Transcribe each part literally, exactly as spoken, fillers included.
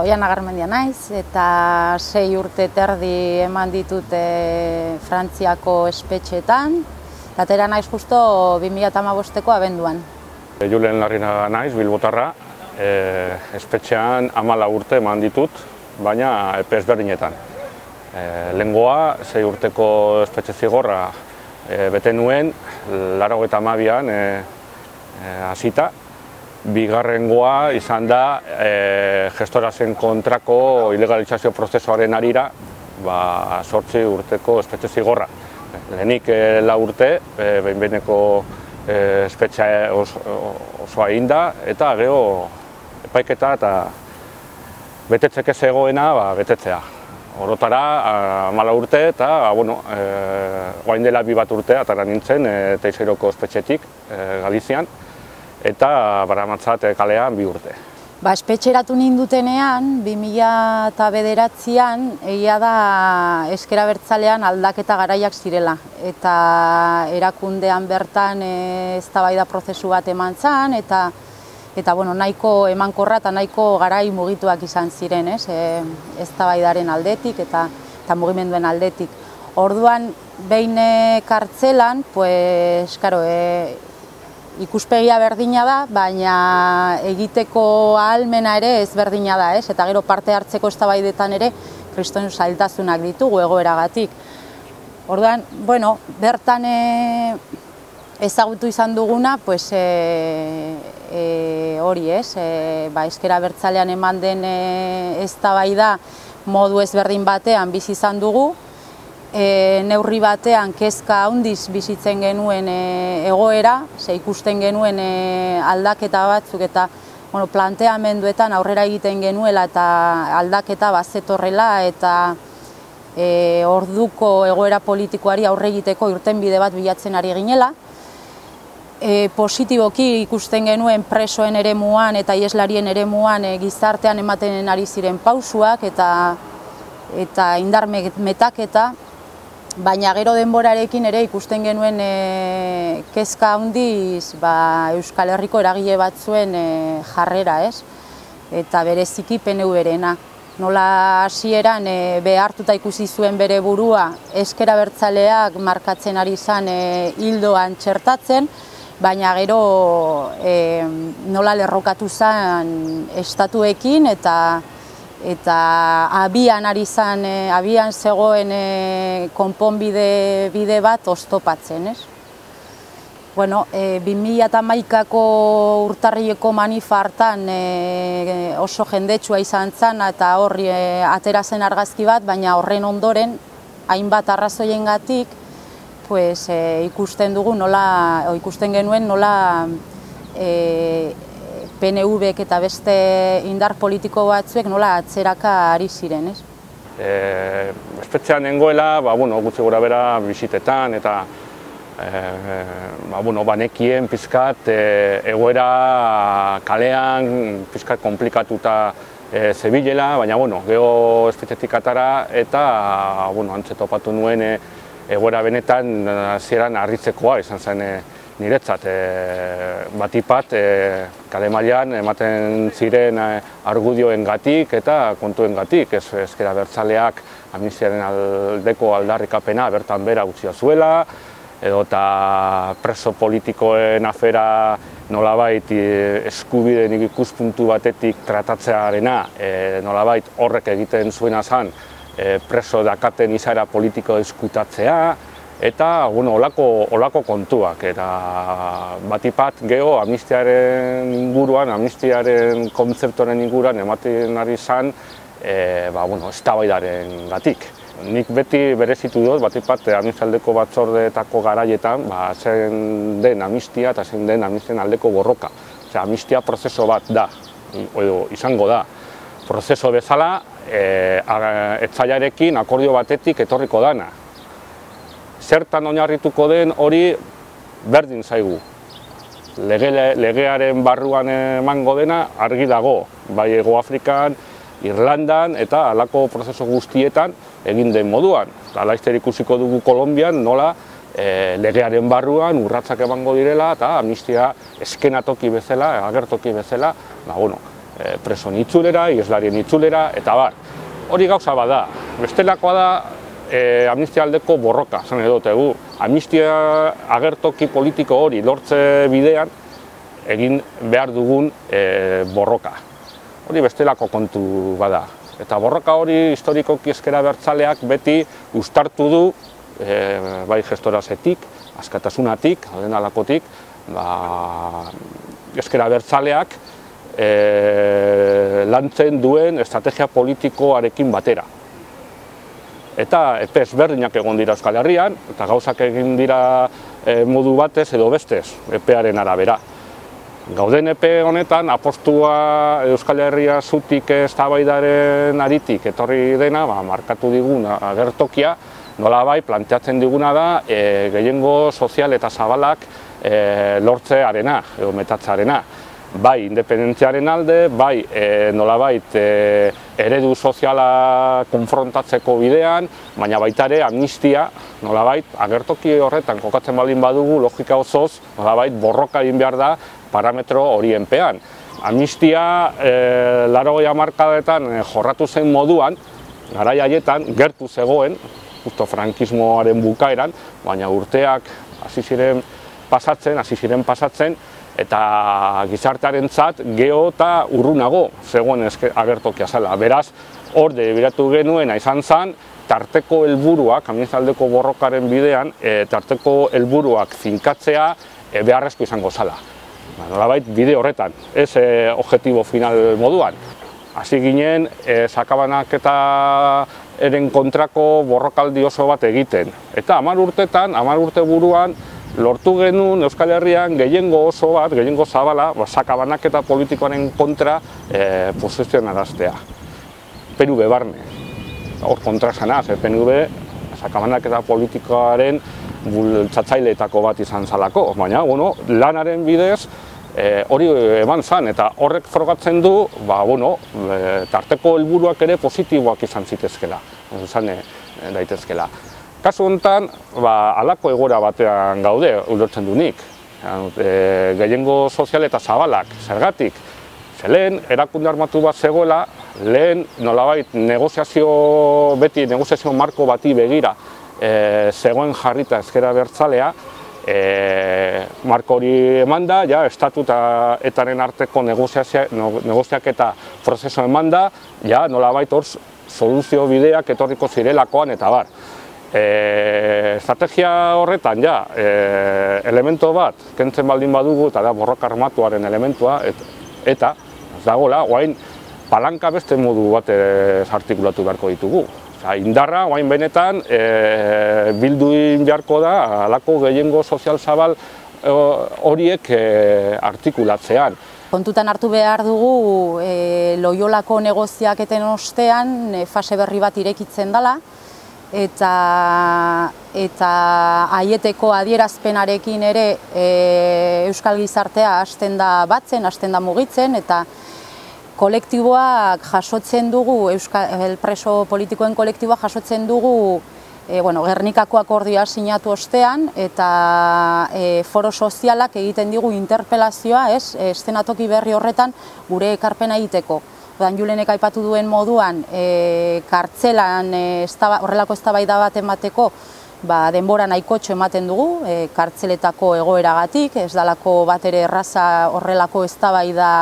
Oiana Garmendia naiz eta sei urte terdi eman ditut e, Frantziako espetxetan. Atera naiz justo bi mila hamabosteko abenduan. Julen Larrinaga naiz, Bilbotarra, e, espetxean hamalau urte eman ditut, baina epe ezberdinetan. E, Lehengoa, sei urteko espetxe zigorra e, bete nuen, laurogeita hamabian e, e, hasita. Bigarrengoa izan da e, gestorazen kontrako ilegalizazio prozesuaren harira ba, zortzi urteko espetxe zigorra. Lehenik e, lau urte, e, behin-behineko e, espetxea oso, osoa egin da, eta gero epaiketa eta betetzeke zegoena ba, betetzea. Orotara hamalau urte eta bueno, e, orain dela bi bat urte atara nintzen e, Teixeiroko espetxetik e, Galizian, eta baramatzat kalean bi urte. Ba, espetxeratu nindutenean, bi mila bederatzian, egia da Ezker Abertzalean aldaketa garaiak zirela. Eta erakundean bertan eztabaida prozesu bat eman zen, eta, eta bueno, nahiko emankorra eta nahiko garai mugituak izan ziren, ez? E, eztabaidaren aldetik eta, eta mugimenduen aldetik. Orduan, behin kartzelan, pues, karo, e, ikuspegia berdina da, baina egiteko ahalmena ere ez berdina da, ez? Eta gero parte hartzeko eztabaidetan ere kriston zailtasunak ditugu egoeragatik. Orduan, bueno, bertan e, ezagutu izan duguna, pues, e, e, hori ez, e, ba, Ezker Abertzalean eman den e, eztabaida modu ezberdin batean bizi izan dugu, E, neurri batean kezka handiz bizitzen genuen e, egoera, ze ikusten genuen e, aldaketa batzuk eta bueno, planteamenduetan aurrera egiten genuela eta aldaketa bazetorrela eta e, orduko egoera politikoari aurre egiteko irtenbide bat bilatzen ari ginela. E, positiboki ikusten genuen presoen eremuan eta ieslarien eremuan e, gizartean ematen ari ziren pausuak eta, eta indar metaketa. Baina gero denborarekin ere ikusten genuen e, kezka handiz ba, Euskal Herriko eragile batzuen e, jarrera, ez? Eta bereziki P N V-rena. Nola hasieran e, behartuta ikusi zuen bere burua Ezker Abertzaleak markatzen ari zen e, hildoan txertatzen, baina gero e, nola lerrokatu zen estatuekin eta eta abian ari zen, e, abian zegoen e, konponbide bide bat oztopatzen, ez? Bueno, e, bi mila hamaikako urtarrileko manifa hartan e, oso jendetsua izan zen eta horri e, atera zen argazki bat, baina horren ondoren, hainbat arrazoiengatik, pues, e, ikusten dugu nola, o, ikusten genuen nola e, P N V-ek eta beste indar politiko batzuek nola atzeraka ari ziren, ez? E, espetxean nengoela, ba, bueno, gutxi gora bera bisitetan eta e, ba, bueno, banekien pizkat e, egoera kalean pizkat komplikatuta e, zebilela, baina bueno, geho espetxetik atara eta bueno, antze topatu nuen e, egoera benetan hasieran harritzekoa izan zen e, niretzat, e, batipat e, kale mailan ematen ziren e, argudioengatik eta kontuengatik, ez Ezker Abertzaleak amnistiaren aldeko aldarrikapena bertan bera utzia zuela, edo eta preso politikoen afera nolabait e, eskubideen ikuspuntu batetik tratatzearena, e, nolabait horrek egiten zuena zen e, preso dakaten izaera politiko diskutatzea, eta bueno, olako, olako kontuak, eta batipat geho amnistiaren inguruan, amnistiaren kontzeptoren inguruan ematen ari zen e, ba, bueno, eztabaidaren gatik. Nik beti berezitu dut, batipat amnistialdeko batzordeetako garaietan, ba, zein den amnistia eta zein den amnistian aldeko borroka. Osea, amnistia prozeso bat da, edo izango da. Prozeso bezala, e, etzaiarekin akordio batetik etorriko dana. Zertan oinarrituko den hori berdin zaigu. Lege, legearen barruan emango dena argi dago, bai Hego Afrikan, Irlandan eta halako prozesu guztietan egin den moduan. Laster ikusiko dugu Kolonbian nola e, legearen barruan urratsak emango direla eta amnistia eskenatoki bezala, agertoki bezala, ba, bueno, e, preson itzulera, ieslarien itzulera, eta bar. Hori gauza bada, bestelakoa da e, amnistia aldeko borroka, zan edo tegu. Amnistia agertoki politiko hori lortze bidean egin behar dugun e, borroka. Hori bestelako kontu bada. Eta borroka hori historikoki ezker abertzaleak beti uztartu du, e, bai gestorazetik, askatasunatik, alden alakotik, ba, ezker abertzaleak e, lantzen duen estrategia politikoarekin batera. Eta epe ezberdinak egon dira Euskal Herrian, eta gauzak egin dira e, modu batez edo bestez, epearen arabera. Gauden epe honetan, apostua Euskal Herria zutik eztabaidaren aritik etorri dena, ba, markatu digun agertokia, nolabai planteatzen diguna da e, gehiengo sozial eta zabalak e, lortzearena, edo metatzearena. Bai independentziaren alde, bai e, nolabait e, eredu soziala konfrontatzeko bidean, baina baita ere amnistia, nolabait agertoki horretan kokatzen baldin badugu, logika osoz, nolabait borroka egin behar da parametro horienpean. Amnistia e, laurogei hamarkadetan e, jorratu zen moduan, garai haietan gertu zegoen, justo frankismoaren bukaeran, baina urteak hasi ziren pasatzen, hasi ziren pasatzen, eta gizartearentzat geho eta urrunago zegoen agertokia zela. Beraz, hor debiratu genuena izan zen, tarteko helburuak, amnistialdeko borrokaren bidean, e, tarteko helburuak finkatzea e, beharrezko izango zela. Nolabait bide horretan, ez e, objektibo final moduan. Hasi ginen, e, sakabanaketa eren kontrako borrokaldi oso bat egiten. Eta hamar urtetan, hamar urte buruan, lortu genuen Euskal Herrian gehiengo oso bat, gehiengo zabala, sakabanaketa politikoaren kontra e, posizionaraztea. P N V barne. Hor kontra zanaz, P N V sakabanaketa politikoaren bultzatzaileetako bat izan zalako. Baina, bueno, lanaren bidez e, hori eman zan, eta horrek frogatzen du, ba, bueno, e, tarteko helburuak ere positiboak izan zitezkela, izan e, daitezkela. Kasu honetan, ba, halako egoera batean gaude, ulertzen du nik. E, gehiengo sozial eta zabalak, zergatik. Ze lehen, erakunde armatu bat zegoela, lehen nolabait negoziazio, beti negoziazio marko bati begira, e, zegoen jarrita ezker abertzalea, e, marko hori eman da, ja, estatu eta etaren arteko negoziaketa prozesu eman da, ja, nolabait hor soluzio bideak etorriko zirelakoan eta bar. E, estrategia horretan, ja, e, elemento bat, kentzen baldin badugu, eta da borroka armatuaren elementua, et, eta, ez dagoela, oain palanka beste modu bat artikulatu beharko ditugu. Oza, indarra, oain benetan, e, bilduin beharko da, halako gehiengo sozial zabal horiek e, artikulatzean. Kontutan hartu behar dugu, e, Loiolako negoziaketen ostean, e, fase berri bat irekitzen dela, eta eta aieteko adierazpenarekin ere e, Euskal Gizartea hasten da batzen, hasten da mugitzen, eta kolektiboak jasotzen dugu, Euskal preso politikoen kolektiboa jasotzen dugu e, bueno, Gernikako akordioa sinatu ostean, eta e, foro sozialak egiten digu interpelazioa, ez, eszenatoki berri horretan gure ekarpena egiteko. Odan Julenek aipatu duen moduan, e, kartzelan e, estaba, horrelako eztabaida bat emateko, ba, denbora nahikotxo ematen dugu, e, kartzeletako egoeragatik, ez dalako bat ere erraza horrelako eztabaida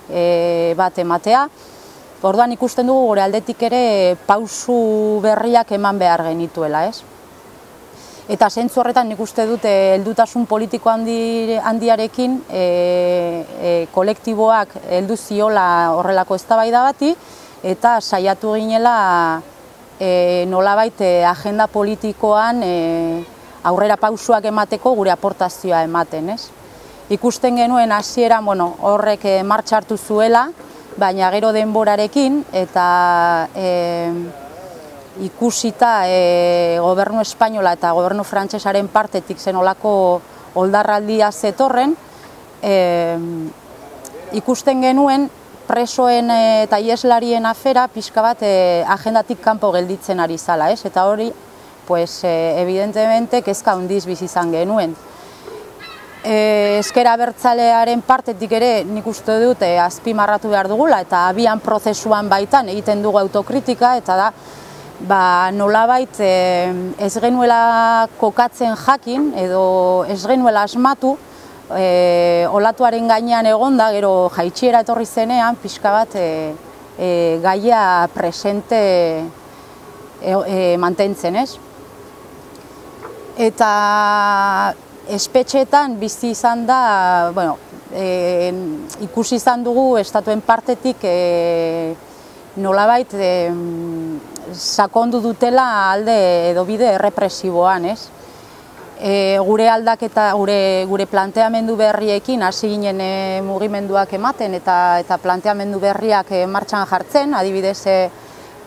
e, bat ematea. Orduan ikusten dugu gure aldetik ere pausu berriak eman behar genituela, ez? Eta zentzu horretan nik uste dute heldutasun politiko handi, handiarekin e, e, kolektiboak heldu ziola horrelako eztabaida bati, eta saiatu ginela e, nolabait e, agenda politikoan e, aurrera pausuak emateko gure aportazioa ematen, ez? Ikusten genuen hasieran, bueno, horrek e, martxa hartu zuela, baina gero denborarekin, eta e, ikusita e, gobernu espainola eta gobernu frantsesaren partetik zenolako oldarraldia zetorren, e, ikusten genuen presoen eta ieslarien afera pixka bat e, agendatik kanpo gelditzen ari zala, ez? Eta hori, pues, e, evidentemente, kezka handiz bizi izan genuen. Ezker Abertzalearen partetik ere nik uste dut azpimarratu behar dugula eta abian prozesuan baitan egiten dugu autokritika eta da ba, nolabait ez genuela kokatzen jakin edo ez genuela asmatu e, olatuaren gainean egonda, gero jaitsiera etorri zenean pixka bat e, e, gaia presente e, e, mantentzen, ez? Eta espetxeetan bizi izan da, bueno, e, ikusi izan dugu estatuen partetik e, nolabait e, sakondu dutela alde edo bide errepresiboan, ez? E, gure aldaketa, gure, gure planteamendu berriekin hasi ginen e, mugimenduak ematen eta, eta planteamendu berriak e, martxan jartzen, adibidez e,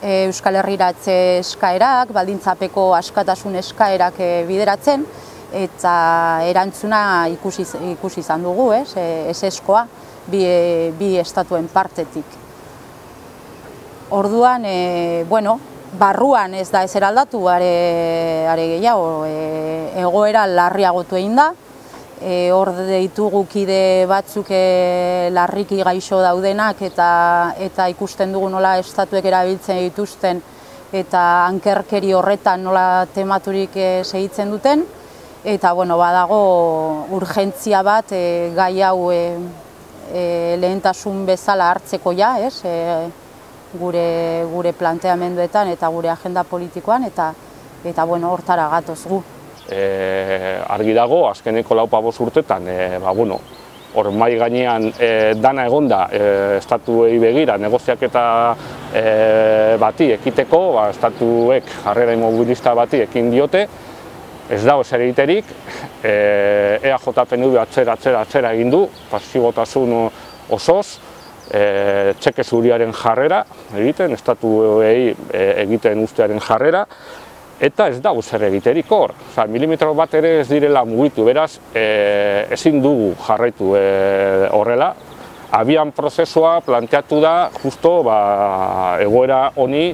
e, Euskal Herriratze eskaerak, baldintzapeko askatasun eskaerak e, bideratzen, eta erantzuna ikusi, ikusi izan dugu, ez, eseskoa, bi, bi estatuen partetik. Orduan, e, bueno, barruan ez da ezer aldatu, are, are gehiago, e, egoera larriagotu egin da, e, hor ditugu kide batzuk e, larriki gaixo daudenak eta, eta ikusten dugu nola estatuek erabiltzen dituzten eta ankerkeri horretan nola tematurik e, segitzen duten. Eta bueno, badago urgentzia bat e, gai hau e, e, lehentasun bezala hartzeko ja, ez? E, gure, gure planteamenduetan eta gure agenda politikoan eta, eta bueno, hortara gatoz gu. E, argi dago, azkeneko laupa bost urtetan, e, ba, bueno, hor mai gainean e, dana egonda e, estatuei begira negoziaketa e, bati ekiteko, ba, estatuek jarrera immobilista bati ekin diote, ez dago zer egiterik, e A J P N V atzera, atzera, atzera egin du, pasibotasun osoz, e, txeke zuriaren jarrera egiten, estatuei egiten ustearen jarrera, eta ez dago zer egiterik hor. Osa, milimetro bat ere ez direla mugitu, beraz, e, ezin dugu jarraitu e, horrela. Abian prozesua planteatu da, justo ba, egoera honi,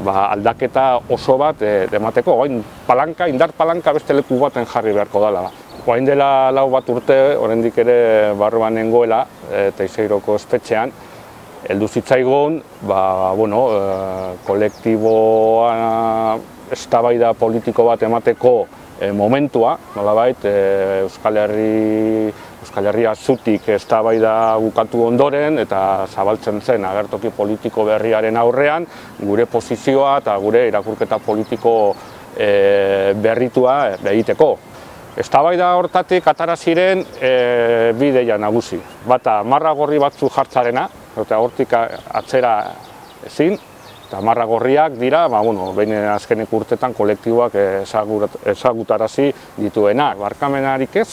ba, aldaketa oso bat emateko, orain palanka, indar palanka beste leku baten jarri beharko dela. Orain dela lau bat urte, oraindik ere barruan nengoela, Teiseiroko espetxean, heldu zitzaigun, ba, bueno, e, kolektiboa eztabaida politiko bat emateko e, momentua, nolabait, e, Euskal Herri Euskal Herria zutik eztabaida bukatu ondoren eta zabaltzen zen agertoki politiko berriaren aurrean gure posizioa eta gure irakurketa politiko e, berritua egiteko. Eztabaida hortatik atara ziren e, bi ideia nagusi. Bata, marra gorri batzu jartzarena, eta hortik atzera ezin, eta marra gorriak dira, ba, bueno, behin azkenek urtetan kolektiboak ezagutarazi dituenak, barkamenarik ez,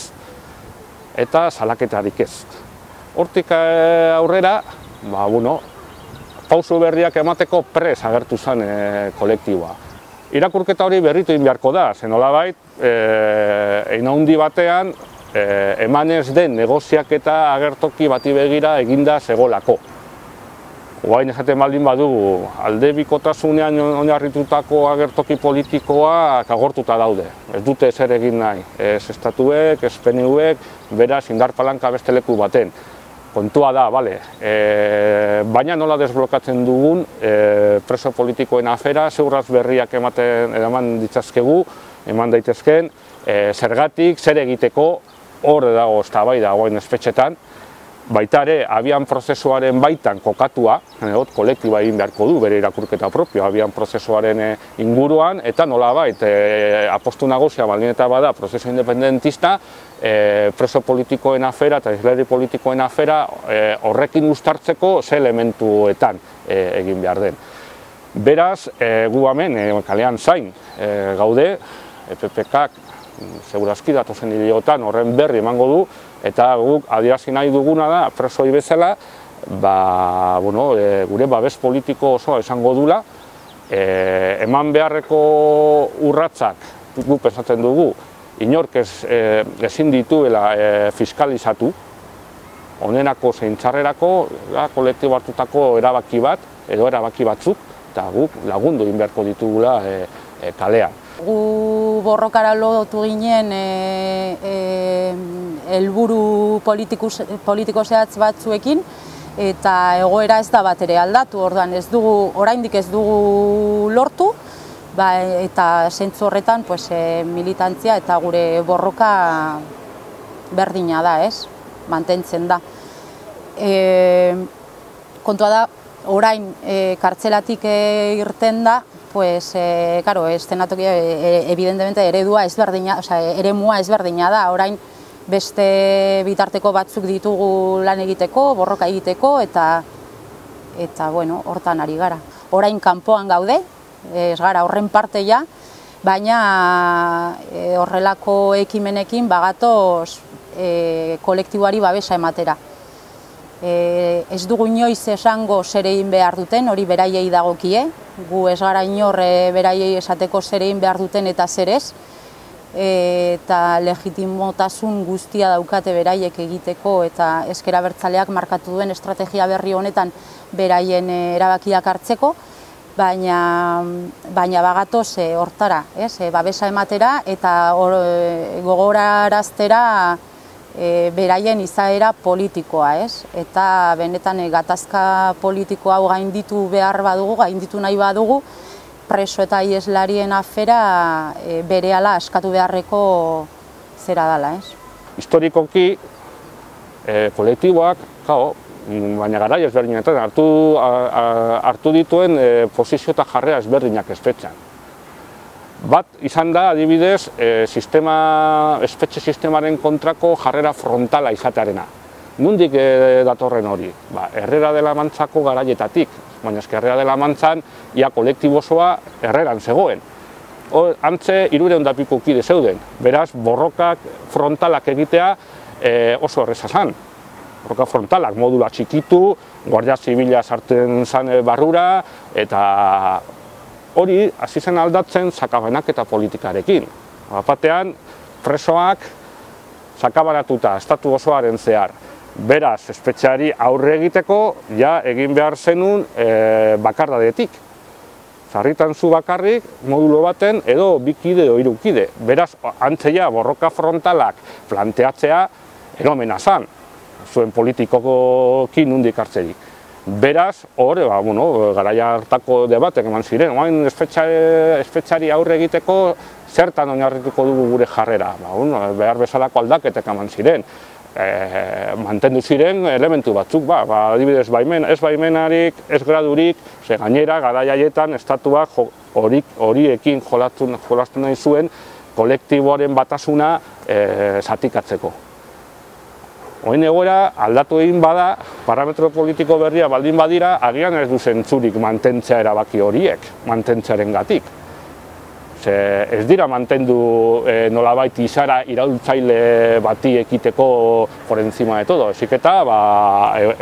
eta salaketarik ez. Hortik aurrera, ba, bueno, pauso berriak emateko prez agertu zen e, kolektiboa. Irakurketa hori berritu egin beharko da, zen nolabait, e, hein handi batean, e, emanez den negoziaketa agertoki bati begira eginda zegolako. Oain esaten baldin badugu, alde bikotasunean oinarritutako agertoki politikoa agortuta daude. Ez dute ezer egin nahi, ez estatuek, ez P N Vek, beraz indar palanka beste leku baten. Kontua da, bale, e, baina nola desblokatzen dugun e, preso politikoen afera, zeurraz berriak ematen eman ditzazkegu, eman daitezken, e, zergatik, zer egiteko, hor dago eztabaida oain espetxetan, baita ere, abian prozesuaren baitan kokatua, hot, kolektiba egin beharko du, bere irakurketa propio, abian prozesuaren inguruan, eta nolabait, e, apostu nagosia baldin eta bada, prozesu independentista, e, preso politikoen afera eta isleri politikoen afera e, horrekin uztartzeko ze elementuetan e, egin behar den. Beraz, e, gu hemen, e, kalean zain e, gaude, E P P K segurazki datozen hileotan horren berri emango du, eta guk adierazi nahi duguna da, presoi bezala, ba, bueno, e, gure babes politiko osoa esango dula, e, eman beharreko urratsak guk pensatzen dugu, inork ez, e, ezin dituela e, fiskalizatu, honenako zein txarrerako, da, kolektibo hartutako erabaki bat, edo erabaki batzuk, eta guk lagundu egin beharko ditugula e, e, kalean. Gu borrokara lotu ginen e, e, helburu politiko zehatz batzuekin, eta egoera ez da bat ere aldatu, orduan ez dugu, oraindik ez dugu lortu, eta zentzu horretan militantzia eta gure borroka berdina da, ez? Mantentzen da. Kontua da, orain kartzelatik irten da, pues, karo, eszenatokia, evidentemente, eredua ezberdina, osea, eremua ezberdina da, orain beste bitarteko batzuk ditugu lan egiteko, borroka egiteko, eta, eta, bueno, hortan ari gara. Orain kanpoan gaude, ez gara horren parte ja, baina horrelako ekimenekin bagatoz kolektiboari babesa ematera. Ez dugu inoiz esango zer egin behar duten, hori beraiei dagokie, gu ez gara inor beraiei esateko zer egin behar duten eta zer ez, eta legitimotasun guztia daukate beraiek egiteko eta ezker abertzaleak markatu duen estrategia berri honetan beraien erabakiak hartzeko, baina bagatoz hortara, babesa ematera eta gogoraraztera beraien izaera politikoa, eta benetan gatazka politiko hau gainditu behar badugu, gainditu nahi badugu, preso eta ieslarien afera berehala askatu beharreko zera dela. Historikoki, kolektiboak, baina garai ezberdinetan hartu dituen posizio eta jarrera ezberdinak espetxean. Bat izan da, adibidez, espetxe sistemaren kontrako jarrera frontala izatearena. Nondik datorren hori? Herrera de la Mantzako garaietatik, baina eske Herrera de la Mantzan ia kolektibo osoa herreran zegoen. Antze hirurehun eta piko kide zeuden, beraz borrokak frontalak egitea oso erreza zan. Borroka frontalak modula txikitu, guardia zibila sartzen zan barrura, eta hori hasi zen aldatzen sakabanak eta politikarekin. Batean, presoak sakabanatuta estatu osoaren zehar. Beraz, espetxeari aurre egiteko, ja egin behar zenun bakardadetik. Sarritan zu bakarrik, modulo baten, edo bikide edo hirukide. Beraz, antzeia borroka frontalak planteatzea eromena zan, zuen politikokin nondik hartzerik. Beraz, hor, garaia hartako debatek eman ziren, oain espetxari aurre egiteko zertan oinarrituko dugu gure jarrera. Behar bezalako aldaketek eman ziren. Mantendu ziren elementu batzuk, adibidez ez baimenarik, ez gradurik, gainera garaia haietan estatuak horiekin jolastu nahi zuen kolektiboaren batasuna zatikatzeko. Oin egoera aldatu egin bada, parametro politiko berria baldin badira, agian ez du zentzurik mantentzea erabaki horiek, mantentzearen gatik. Ez dira mantendu nolabait izara iraultzaile bati ekiteko por encima de todo, ezik eta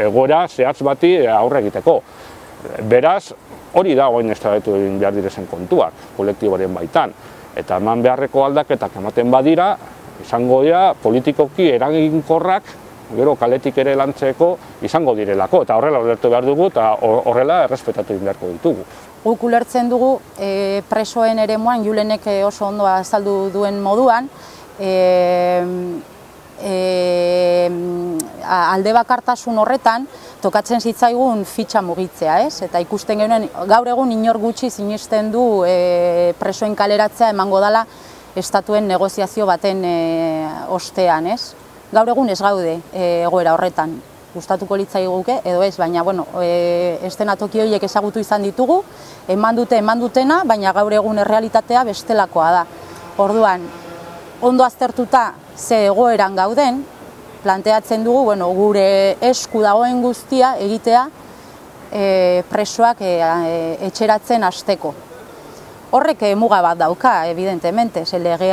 egoera zehatz bati aurre egiteko. Beraz, hori da oin eztabaidatu egin behar direzen kontuak, kolektiboaren baitan. Eta eman beharreko aldaketak ematen badira, izango dira politikoki eraginkorrak, gero kaletik ere lantzeko izango direlako, eta horrela ulertu behar dugu, eta horrela errespetatu egin beharko ditugu. Guk ulertzen dugu presoen eremuan, Julenek oso ondo azaldu duen moduan, alde bakartasun horretan tokatzen zitzaigun fitxa mugitzea, ez? Eta ikusten genuen, gaur egun inor gutxi sinisten du presoen kaleratzea emango dela estatuen negoziazio baten ostean, ez? Gaur egun ez gaude egoera horretan. Gustatuko litzaiguke, edo ez, baina, bueno, eszenatoki horiek ezagutu izan ditugu, eman dute, eman dutena, baina gaur egun errealitatea bestelakoa da. Orduan, ondo aztertuta ze egoeran gauden, planteatzen dugu, bueno, gure esku dagoen guztia egitea presoak etxeratzen hasteko. Horrek muga bat dauka, evidentemente, lege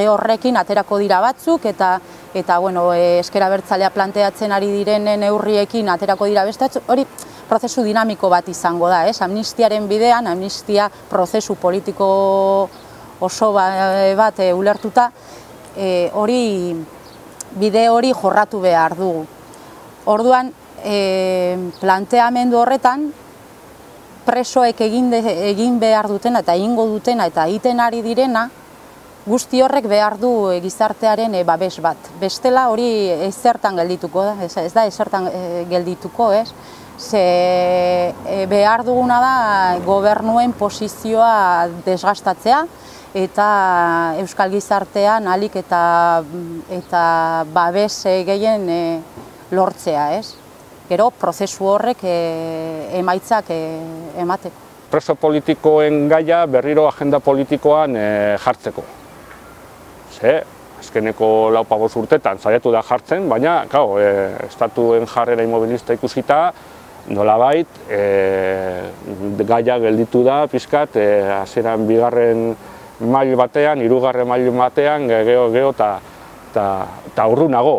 horrekin aterako dira batzuk, eta ezker abertzalea planteatzen ari direnen neurriekin aterako dira beste batzuk, hori prozesu dinamiko bat izango da, amnistiaren bidean, amnistia prozesu politiko oso bat ulertuta, hori bide hori jorratu behar dugu. Orduan, planteamendu horretan, presoek egin behar dutena eta egingo dutena eta egiten ari direna, guzti horrek behar du gizartearen babes bat. Bestela hori ezertan geldituko da, ez da ezertan geldituko, ez? Ze behar duguna da gobernuen posizioa desgastatzea eta euskal gizartean ahalik eta eta babes gehien lortzea, ez? Gero prozesu horrek emaitzak emateko. Preso politikoen gaia berriro agenda politikoan jartzeko. Ze, azkeneko lau pabost urtetan saiatu da jartzen, baina, kau, estatuen jarrera inmobilista ikusita, nolabait, gaia gelditu da, pixkat, hasieran bigarren mail batean, hirugarren mail batean, geho, geho, eta urrunago.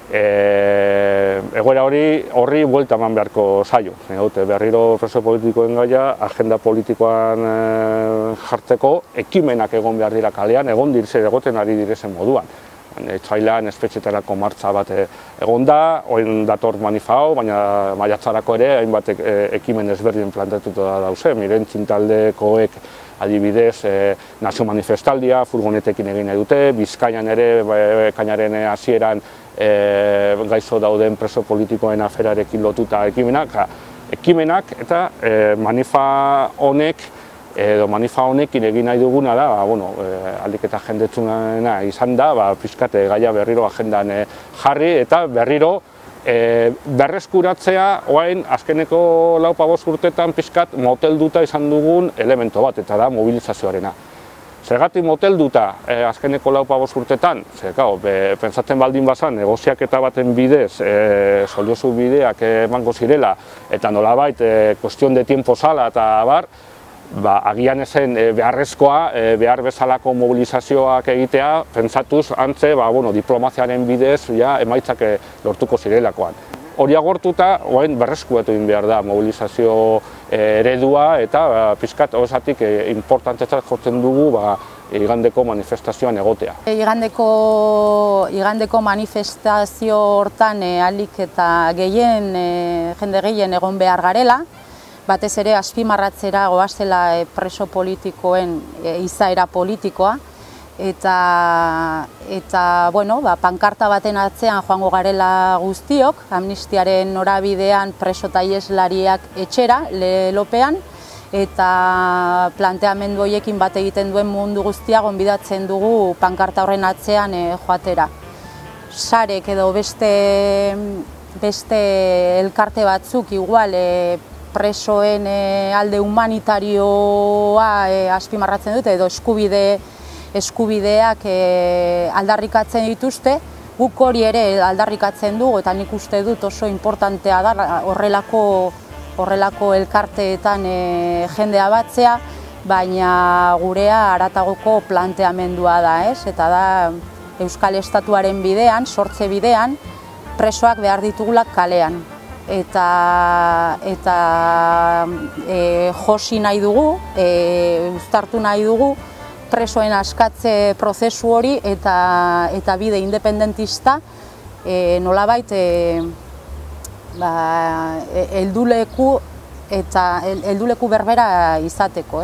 Egoera hori horri buelta eman beharko zaio. Berriro preso politikoen gaia, agenda politikoan jartzeko, ekimenak egon behar dira kalean, egon dirze egoten ari direzen moduan. Etxailan espetxetarako martxa bat egon da, oin dator manifao, baina maiatzarako ere, hainbat ekimen ezberdin plantatuta da dauze, Mirentzin taldekoek adibidez nazio manifestaldia, furgonetekin egin nahi dute, Bizkaian ere, ekainaren hasieran gaizo dauden preso politikoen aferarekin lotuta ekimenak, ekimenak eta manifa honek, edo manifa honekin egin nahi duguna da, aldik eta jendetzuna izan da, pixkat gaia berriro agendan jarri eta berriro berreskuratzea oain azkeneko lau pabost urtetan pixkat motelduta izan dugun elemento bat, eta da mobilizazioarena. Zergatik motelduta azkeneko lau pabost urtetan, pentsatzen baldin bazan, negoziaketa baten bidez, soliozu bideak emango zirela, eta nolabait, kuestion de tiempo zala eta bar, agian ezen beharrezkoa, behar bezalako mobilizazioak egitea, pentsatuz antze diplomaziaren bidez emaitzak lortuko zirelakoan. Hori agortuta, berreskuatu egin behar da mobilizazio eredua eta pixkat horrezatik importantetzat jotzen dugu igandeko manifestazioan egotea. Igandeko manifestazio hortan ahalik eta gehien, jende gehien egon behar garela, batez ere azpimarratzera goazela preso politikoen izaera politikoa, eta pankarta baten atzean joango garela guztiok, amnistiaren norabidean preso eta ieslariak etxera, lelopean, eta planteamendu horiekin bat egiten duen mundu guztia gonbidatzen dugu pankarta horren atzean joatera. Sarek edo beste elkarte batzuk igual presoen alde humanitarioa azpimarratzen dute edo eskubideak aldarrikatzen dituzte, guk hori ere aldarrikatzen dugu eta nik uste dut oso importantea da horrelako elkarteetan jendea batzea, baina gurea haratagoko planteamendua da, eta da Euskal Estatuaren bidean, sortze bidean, presoak behar ditugulak kalean. Eta josi nahi dugu, uztartu nahi dugu, presoen askatze prozesu hori eta bide independentista nolabait helduleku berbera izateko.